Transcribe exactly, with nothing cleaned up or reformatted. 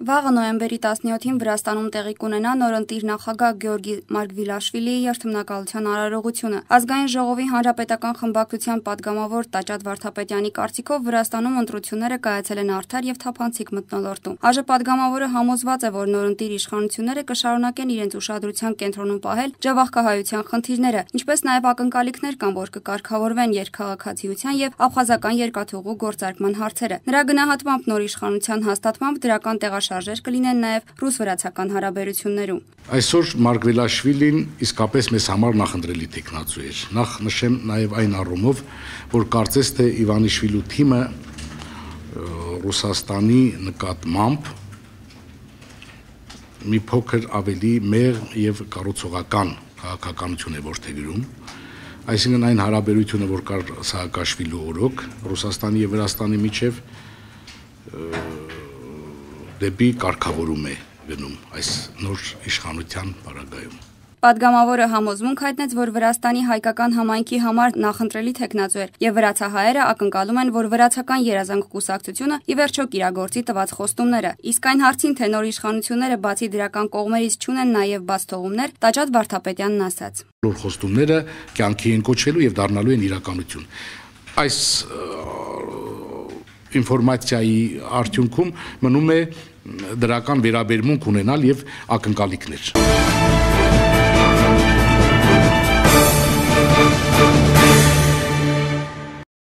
Վաղը նոյեմբերի տասնյոթին Վրաստանում տեղի կունենա նորընտիր նախագահ Գեորգի Մարգվիլաշվիլիի երթմնակալության արարողությունը։ Ազգային ժողովի հանրապետական խմբակցության պատգամավոր Տաճատ Վարդապետյանի կարծիքով Վրաստանում ընտրությունները կայացել են արդար եւ թափանցիկ մթնոլորտում։ ԱԺ պատգամավորը համոզված է, որ նորընտիր իշխանությունները կշարունակեն իրենց ուշադրության կենտրոնում պահել ջավախքահայության խնդիրները, ինչպես նաեւ ակնկալիքներ կան, որ կկարգավորվեն երկխաղաքացիության եւ աբխազական երկաթուղու գործարկման հարցերը։ Նրա գնահատմամբ նոր իշխանության հաստատմամբ դրական տեղաշարժեր կլինեն նաև ռուս-վրացական հարաբերություններում։ Այսօր Մարգվիլաշվիլին իսկապես մեզ համար նախընտրելի տեխնացու էր։ Նախ նշեմ նաև այն առումով, որ կարծես թե Իվանիշվիլու թիմը Ռուսաստանի նկատմամբ մի փոքր ավելի մեղ եւ կառուցողական քաղաքականություն է որդեգրում։ Այսինքն այն հարաբերությունը, որ կար Սահակաշվիլու օրոք Ռուսաստանի եւ Վրաստանի միջև դեպի կարգավորում է գնում այս նոր իշխանության պարագայում։ Պատգամավորը համոզմունք հայտնեց, որ Վրաստանի հայկական համայնքի համար նախընտրելի տեխնացու էր եւ վրացահայերը ակնկալում են, որ վրացական երազանք կուսակցությունը ի վերջո կիրագործի տված խոստումները։ Իսկ այն հարցին, թե նոր իշխանությունները բացի դրական կողմերից չունեն նաեւ բաց թողումներ, Տաճատ Վարդապետյանն ասաց. Նոր խոստումները կյանքի են կոչվելու եւ դառնալու են իրականություն։ Այս ինֆորմացիայի արդյունքում մնում է դրական վերաբերմունք ունենալ եւ ակնկալիքներ։